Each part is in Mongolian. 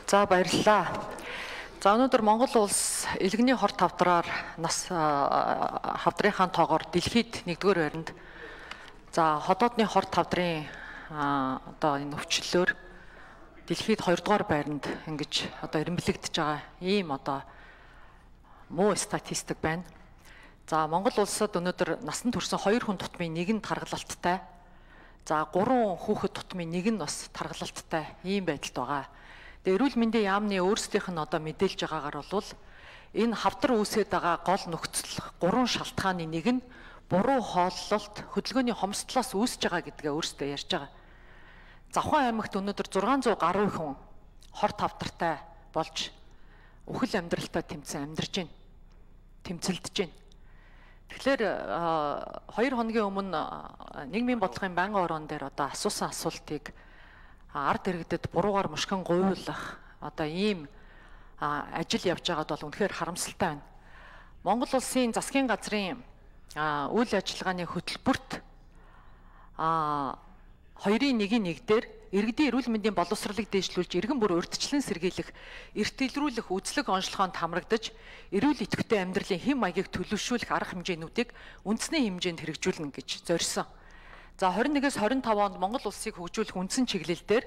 За баярлалаа. За өнөөдөр Монгол улс элгэний хор тавдраар нас хавдрынхаа тоогоор дэлхийд 1-р байранд за ходоодны хор тавдрын одоо энэ өвчлөлөөр дэлхийд 2-р байранд ингэж одоо эренблэгдэж байгаа ийм одоо муу статистик байна. За Монгол улсад өнөөдөр насанд хүрсэн 2 хүн тутмын 1 нь тархалттай. За 3 хүүхэд тутмын 1 нь бас тархалттай ийм байдалд байгаа. Тэгээ эрүүл мэндийн яамны өөрсдийнх нь одоо мэдээлж байгаагаар бол энэ хавдар үүсээд байгаа гол нөхцөл 3 шалтгааны нэг нь буруу хооллолт хөдөлгөөний хомсдлоос үүсэж байгаа гэдгээ өөрсдөө ярьж байгаа. Завхан аймагт өнөөдөр 600 гаруй хүн хор тавдартай болж үхэл амьдралтай амьдарч байна. Тэмцэлдэж байна. Тэгэхээр 2 хоногийн өмнө нийгмийн бодлогын байнгын орон дээр одоо асуусан асуултыг ард иргэдэд буруугаар мушгин гуйлах одоо ийм ажил явж байгаад бол үнэхээр харамсалтай байна. Монгол улсын засгийн газрын үйл ажиллагааны хөтөлбөрт 2-1-1 дээр иргэдийн эрүүл мэндийн боловсролыг дэвшлүүлж иргэн бүр урьдчилан сэргийлэх, эрт илрүүлэх үзлэг онцлогоонд хамрагдаж эрүүл идэвхтэй амьдралын хэм маягийг төлөвшүүлэх арга хэмжээнүүдийг үндэсний хэмжээнд хэрэгжүүлнэ гэж зорьсон. За 21-с 25 онд Монгол улсыг хөгжүүлэх үндсэн чиглэлээр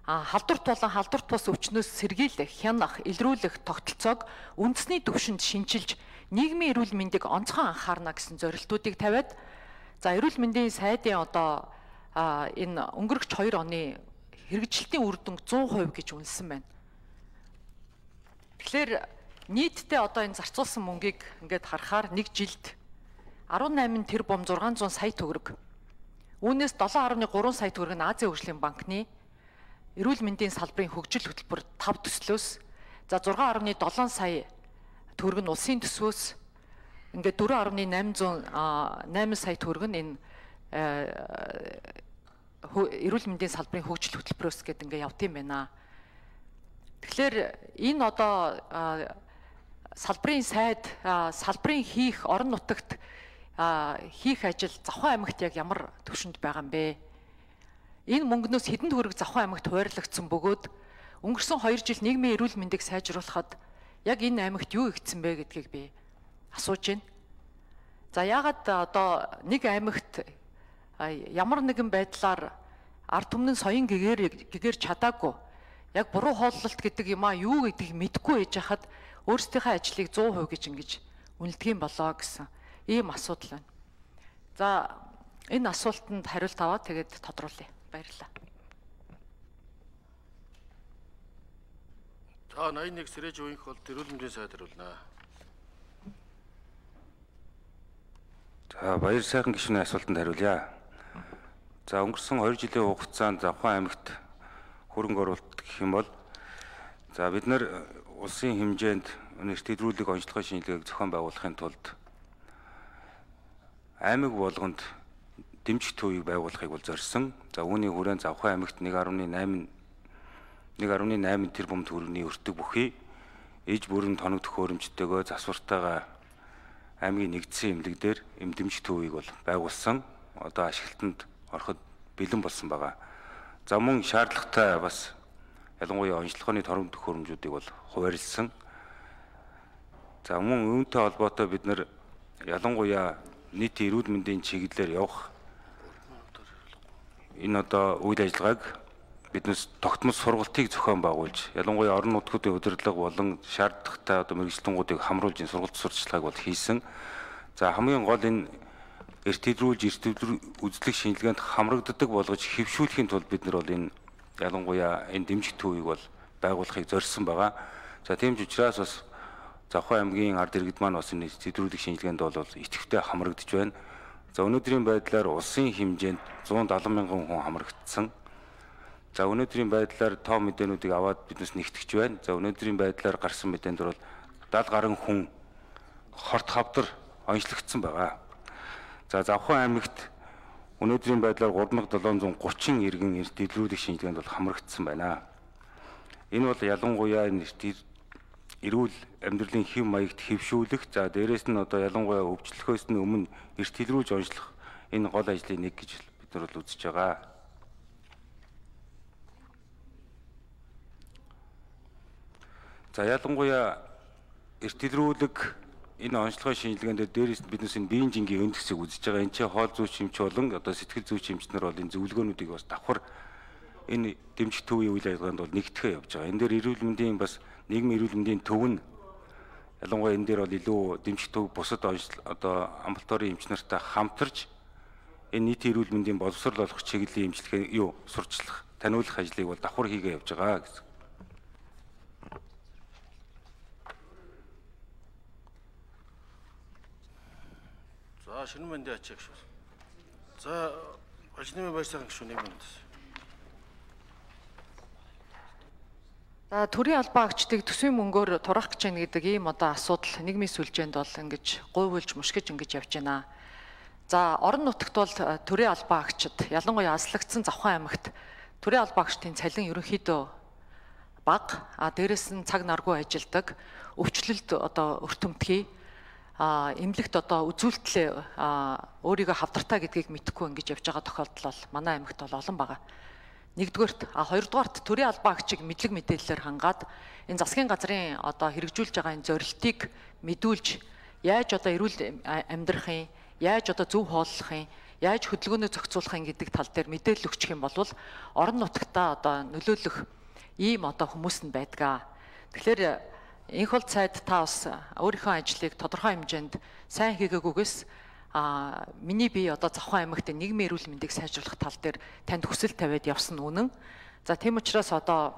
халдварт болон халдварт бус өвчнөөс сэргийлэх, хянах, илрүүлэх тогтолцоог үндэсний түвшинд шинчилж нийгмийн эрүүл мэндийг онцгой анхаарна гэсэн зорилтуудыг тавиад за эрүүл мэндийн сайдын одоо энэ өнгөрөх 2 оны хэрэгжилтийн үр дүнг 100% гэж үнэлсэн байна. Тэгэхээр нийтдээ одоо энэ зарцуулсан мөнгийг ингээд харахаар нэг жилд 18 тэрбум 600 сая төгрөг. Үүнээс 7.3 сая төгрөг нь Азийн хөгжлийн банкны эрүүл мэндийн салбарын хөгжил хөтөлбөр 5 төслөөс за 6.7 сая төгрөг нь улсын төсвөөс ингээд 4.8 сая төгрөг нь энэ эрүүл мэндийн салбарын хөгжил хөтөлбөрөөс гэдэг ингээд явт юм байна. Тэгэхээр энэ одоо салбарын сайд салбарын хийх орон нутагт хийх ажил Завхан аймагт яг ямар төвшөнд байгаа юм бэ? Энэ мөнгнөөс хэдэн төгрөг Завхан аймагт хуваарлагдсан бөгөөд өнгөрсөн 2 жил нийгмийн эрүүл мэндийг сайжруулахад яг энэ аймагт юу игдсэн бэ гэдгийг би асууж байна. За яагаад одоо нэг аймагт ямар нэгэн байдлаар ард түмний соён гэгээр чадаагүй яг буруу хооллолт гэдэг юм юу гэдгийг мэдэхгүй ээж хахад өөрсдийнхөө ажлыг 100% гэж ингэж үнэлдэг юм болоо гэсэн ийм асуудал байна. За энэ асуултанд хариулт аваад тэгээд тодруулъя. Баярлалаа. За 81 Сэрэж үеийнх бол эрүүл мэндийн сайд хариулнаа. За баяр сайхан гишүүний асуултанд хариулъя. За өнгөрсөн 2 жилийн хугацаанд Завхан аймагт хөрөнгө оруулалт гэх юм бол за бид нар улсын хэмжээнд эрт илрүүлэг онцлогын шинжилгээг зохион байгуулахын тулд аймаг болгонд дэмжих төвийг байгуулахыг бол зорьсон. За үүний хүрээнд Завхан аймагт 1.8 тэрбум төгрөгийн өртөг бүхий иж бүрэн тоног төхөөрөмжтэйгөө засвартайгаа аймгийн нэгдсэн эмнэлэг дээр дэмжих төвийг бол байгуулсан. Одоо ашиглалтанд ороход бэлэн болсон байгаа. За мөн шаардлагатай бас ялангуяа онцлогооны тоног төхөөрөмжүүдийг бол хуваарлсан. За мөн үүнтэй холбоотой бид нар ялангуяа нийт эрүүл мэндийн чиглэлээр явах энэ одоо үйл ажиллагааг биднээс тогтмол сургалтыг зохион байгуулж ялангуяа орон нутгуудын удирдлага болон шаардлагатай одоо мэргэжлэнгуудыг хамруулж энэ сургалт сурталчилгааг бол хийсэн. За хамгийн гол энэ эрт илрүүлж үзлэг шинжилгээнд хамрагддаг болгож хэвшүүлэхийн тулд бид нар бол энэ ялангуяа энэ дэмжих төвийг бол байгуулахыг зорьсон байгаа. За тийм ч учраас бас Завхан аймгийн ард иргэд маань бас энэ зэдрүүлэх шинжилгээнд бол идэвхтэй хамрагдж байна. За өнөөдрийн байдлаар улсын хэмжээнд 170 мянган хүн хамрагдсан. За өнөөдрийн байдлаар тоо мэдээнүүдийг аваад биднес нэгтгэж байна. За өнөөдрийн байдлаар гарсан мэдээнд бол 70 гаруй хүн хорт хавдар онцлогдсон байгаа. За Завхан аймагт өнөөдрийн байдлаар 3730 иргэн эрт илрүүлэх шинжилгээнд бол хамрагдсан байна. Энэ бол ялангуяа эрүүл амьдралын хэв маягт хэвшүүлэх за дээрэс нь одоо ялангуяа өвчлөхөөс нь өмнө эрт илрүүлж онцлох энэ гол ажлын нэг гэж бид нар бол үзэж байгаа. За ялангуяа эрт илрүүлэг энэ онцлогын шинжилгээнд дээрээс биднээс энэ биеийн жингийн өндгсийг үзэж байгаа. Энэ чинь хоол зүйч эмч болон одоо сэтгэл зүйч эмчнэр бол энэ зөвлөгөөнүүдийг бас давхар энэ дэмжих төвийн үйл ажиллагаанд бол нэгтгэхэ явж байгаа. Энэ дээр эрүүл мэндийн бас нийгмийн эрүүл мэндийн төв нь ялангуяа энэ дээр бол илүү дэмжих төв бусад одоо амбулаторийн эмчнэртэй хамтарч энэ нийтийн эрүүл мэндийн боловсрол олох чиглэлийн эмчилгээ сурчлах, таниулах ажлыг бол давхар хийгээ явж байгаа гэсэн. За шинэ мэндийн ачааг шүү. За ажлын байрсаар гişүү нэг минут. За төрийн албан агчдыг төсвийн мөнгөөр турах гэж байна гэдэг ийм одоо асуудал нийгмийн сүлжээнд бол ингэж гуйвуулж мушгиж ингэж явж байна. За орон нутагт бол төрийн албан агчид ялангуяа аслагдсан Завхан аймагт төрийн албан агчдын цалин ерөнхийдөө бага, дээрэс нь цаг наргүй ажилдаг, өвчлөлт одоо өртөмтгий, эмнэлэгт одоо үзүүлэлтлээ өөрийгөө хавдартай гэдгийг мэдэхгүй ингэж явж байгаа тохиолдол бол манай аймагт бол олон байгаа. Нэгдүгээрт, хоёрдугаарт төрийн албан агчийг мэдлэг мэдээллээр хангаад энэ засгийн газрын одоо хэрэгжүүлж байгаа энэ зорилтыг мэдүүлж яаж одоо эрүүл амьдрахын, яаж одоо зөв хооллохын, яаж хөдөлгөөнөө зохицуулахын гэдэг тал дээр мэдээлэл өгчих юм бол орон нутагтаа одоо нөлөөлөх ийм одоо хүмүүс нь байдгаа. Тэгэхээр энэ хол цайд та бас өөрийнхөө ажлыг тодорхой хэмжээнд сайн хийгээгүйгээс миний бие одоо Завхан аймагт нийгмийн эрүүл мэндийг сайжруулах тал дээр танд хүсэл тавиад явсан үнэн. За тийм учраас одоо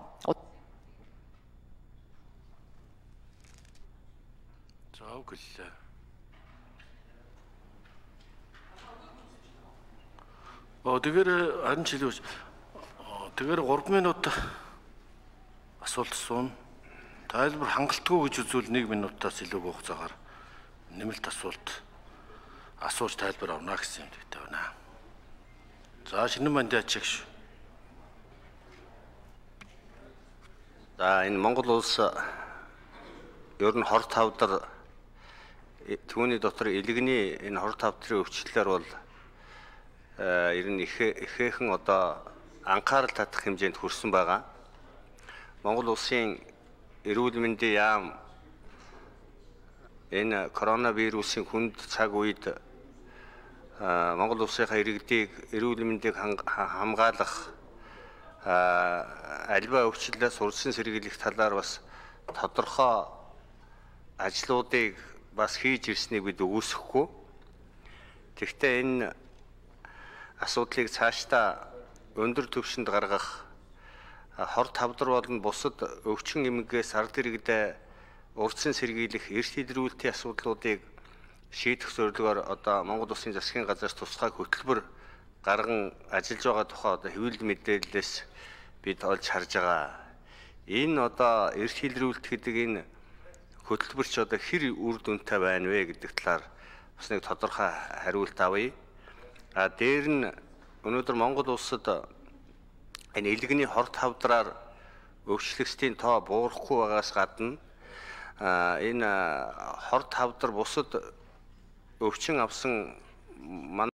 За үгэлээ. Тэгэхээр харин чилүүж. Тэгэхээр 3 минут асуулт суун. Тайлбар хангалтгүй гэж үзвэл 1 минутаас илүү хугацаагаар нэмэлт асуулт асууж тайлбар авна гэсэн юм дэгтэй байна. За шинэ мэндийн ачааг шүү. За энэ Монгол улс ер нь хор тавдар түүний дотор илгэний энэ хор тавдрын өвчлөлөөр бол ер нь ихээхэн одоо анхаарал татах хэмжээнд хүрсэн байгаа. Монгол улсын эрүүл мэндийн яам энэ коронавирусын хүнд цаг үед Монгол улсынхаа иргэдийг эрүүл мэндийг хамгаалах альва өвчлөлөөс урьдчилан сэргийлэх талаар бас тодорхой ажлуудыг бас хийж ирснийг бид үгүйсэхгүй. Тэгэхдээ энэ асуудлыг цаашдаа өндөр түвшинд гаргах хор тавдар болон бусад өвчин эмгээс ард иргэдээ урьдчилан сэргийлэх эрт илрүүлэлтийн асуудлуудыг шийдэх зорилгоор одоо Монгол Улсын засгийн газраас тусгай хөтөлбөр гарган ажиллаж байгаа тухай одоо хэвлэл мэдээлэлээс бид олж харж байгаа. Энэ одоо эрт илрүүлэлт гэдэг энэ хөтөлбөрч одоо хэр үр дүнтэй байна вэ гэдэг талаар бас нэг тодорхой хариулт авъя. Дээр нь өнөөдөр Монгол улсад энэ илгэний хор тавдраар өвчлөгчдийн тоо буурахгүй байгаас гадна энэ хор тавдар бусад өвчин авсан